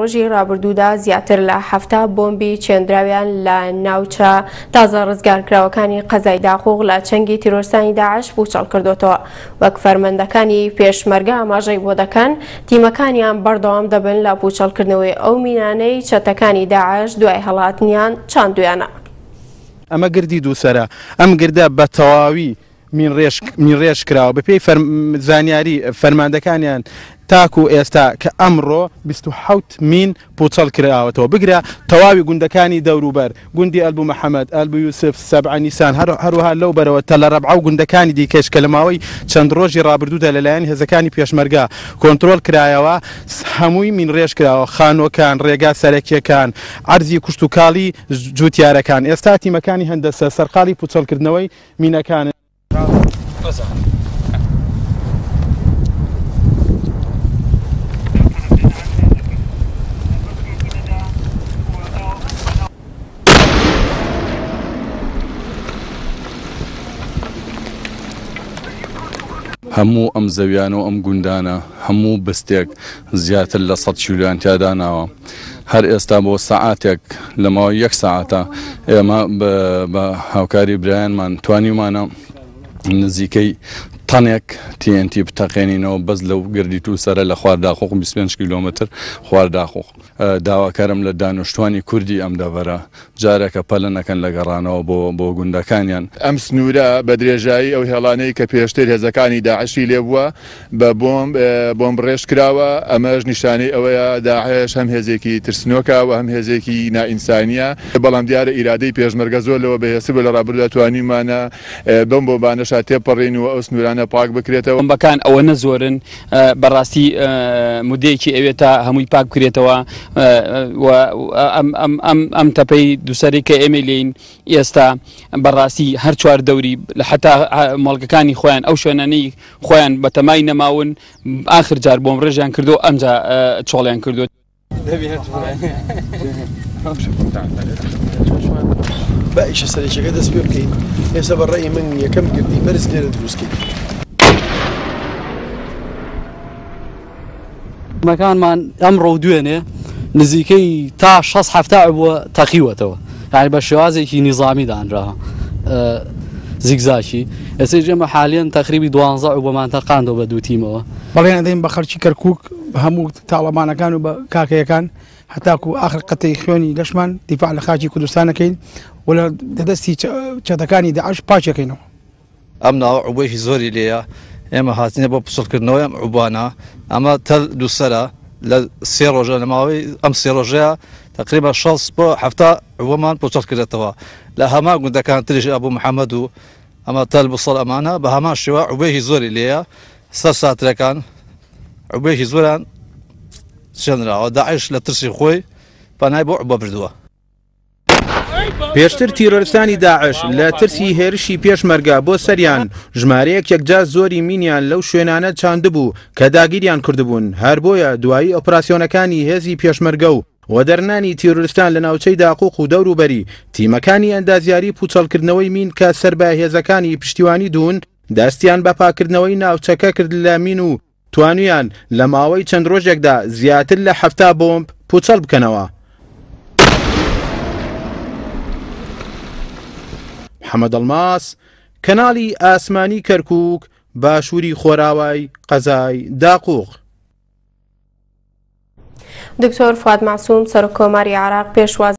ڕۆژی ڕابردوودا زیاتر لە 70 بۆمبی چێندراویان لە ناوچە تازە ڕزگارکراوەکانی قەزای داقوق لە چنگی تیرۆرستانی داعش پوچەڵ کردوتەوە. وەک فەرمەندەکانی پێشمەرگە ئاماژەی بۆ دەکەن، تیمەکانیان بەردەوام دەبن لە پوچەڵکردنەوەی ئەو مینانەی چەتەکانی داعش دوای هەڵاتنیان چاندویانە. ئەمە گردی دووسەرە، ئەم گردە بە تەواوی مینڕێژ کراوە، بەپێی زانیاری فەرماندەکانیان تاکو ئێستا کە ئەمڕۆ 27 مین پوچەڵ کراوەتەوە، بگرە تەواوی گوندەکانی دەوروبەر، گوندی ئەلبو محەمەد، ئەلبو یوسف، سەبعە نیسان، هەروەها لەو بەرەوە تەلەرەبعە و گوندەکانی دیکەش کە لە ماوەی چەند ڕۆژی ڕابردوودا لەلایەن هێزەکانی پێشمەرگە کۆنترۆڵ کرایەوە، هەمووی مینڕێژ کراوە، خانووەکان، ڕێگا سەرەکییەکان، عەرزی کشتوکاڵی جووتیارەکان. ئێستا تیمەکانی هەندەسە سەرقاڵی پوچەڵکردنەوەی مینەکانن. هەموو ئەم زەویانە و ئەم گوندانە هەموو بستێک زیاتر لە سەد کیلۆیان تیا داناوە. هەر ئێستا بۆ سەعاتێک لە ماوەی یەک سەعاتە ئێمە بە هاوکاری برایانمان توانیومانە نزیکەی تەنێک TNT بتەقێنینەوە بەس لەو گردی تووسەرە لە خوار داقوق 25 کیلۆمەتر خوار داقوق. داواکارم لە دانوشتوانی کوردی ئەم دەڤەرە جارێکە پەلە نەکەن لە گەڕانەوە بۆ بۆ گوندەکانیان. ئەم سنوورە بە درێژایی ئەو هێڵانەی کە پێشتر هێزەکانی داعشی لێبووە بە بۆمب بۆمبڕێژ کراوە، ئەمەش نیشانەی ئەوەیە داعش هەم هێزێکی ترسنۆکە و هەم هێزێکی نائینسانییە، بەڵام دیارە ئیرادەی پێشمەرگە زۆر لەوە بەهێزتر بووە، لە ڕابردوودا توانیومانە بەم بۆمبانەشا تێپەڕین و ئەو سنوورانە پاک بکرێتەوە. بۆمبەکان ئەوەنە زۆرن بەڕاستی مدەیەکی ئەوێت تا هەمووی پاک بکرێتەوە و ئەم تەپەی دووسەری کە ئێمەی لێین ئێستا بەڕاستی هەر چوار دەوری حتا مۆڵگەکانی خۆیان ئەو شوێنانەی خۆیان بەتەمای نەماون ئاخر جار بۆم ڕێژیان کردو ئەمجا چۆڵیان کردو. با ئیشە سەرەکیەکە دەست پێ بکەین ئێستا بە ڕەئی من یەکەم گردی بەرز لێرە دروست کەین. مەکانمان ئەمڕۆ و دوێنێ نزیکەی تا شەست حەفتا عبوە تەقیوەتەوە یعنی بە شێوازێکی نیزامی دانرا زیگزاکی ئێستەیش ئێمە حالیەن تەقریبی دوانزە عبوەمان تەقاندەوە بە دوو تیمەوە. بەڵێن ئەدەین بە خەڵکی کەرکوک بە هەموو تاڵەبانەکان و بە کاکەیەکان هەتاکو ئاخر قەتەی خوێنی لەشمان دیفاع لە خاکی کوردستان ئەکەین و لە دەستی چەتەکانی داعش پاکیەکەینەوە. ئەم ناوە عوبەیەکی زۆری لێیە، ئێمە هاتینە بۆ پچڕکردنەوەی ئەم عوبانە، ئەمە تەل دووسەرە لە سێ ڕۆژە لە ماوەی ئەم سێ ڕۆژەیە تەقریبا 60 بۆ 70 عوبەمان پچڕ کردێتەوە لە هەمان گوندەکان تریش ئەبوو محەممەد و ئەمە تەل بسەڵ ئەمانە بە هەمان شێوە عوبەیەکی زۆری لێیە سەر ساترەکان عوبەیەکی زۆران چێنراوە داعش لە ترسی خۆی پەنای بۆ عوبە بردووە. پێشتر تیرۆرستانی داعش لە ترسی هێرشی پێشمەرگە بۆ سەریان ژمارەیەک یەکجار زۆری مینیان لەو شوێنانە چاندبوو کە داگیریان کردبوون، هەر بۆیە دوایی ئۆپراسیۆنەکانی هێزی پێشمەرگە و وەدەرنانی تیرۆرستان لە ناوچەی داقوق و دەوروبەری، تیمەکانی ئەندازیاری پووچەڵکردنەوەی مین کە سەر بە هێزەکانی پشتیوانی دوون دەستیان بە پاککردنەوەی ناوچەکە کرد لە مین و توانیان لە ماوەی چەند ڕۆژێکدا زیاتر لە 70 بۆمب پووچەڵ بکەنەوە. محەمەد ئەڵماس، کەناڵی ئاسمانی کەرکووک، باشووری خۆراوای قەزای داقوق. دکتۆر فواد مەعسوم سەرۆک کۆماری عێراق پێشوازی.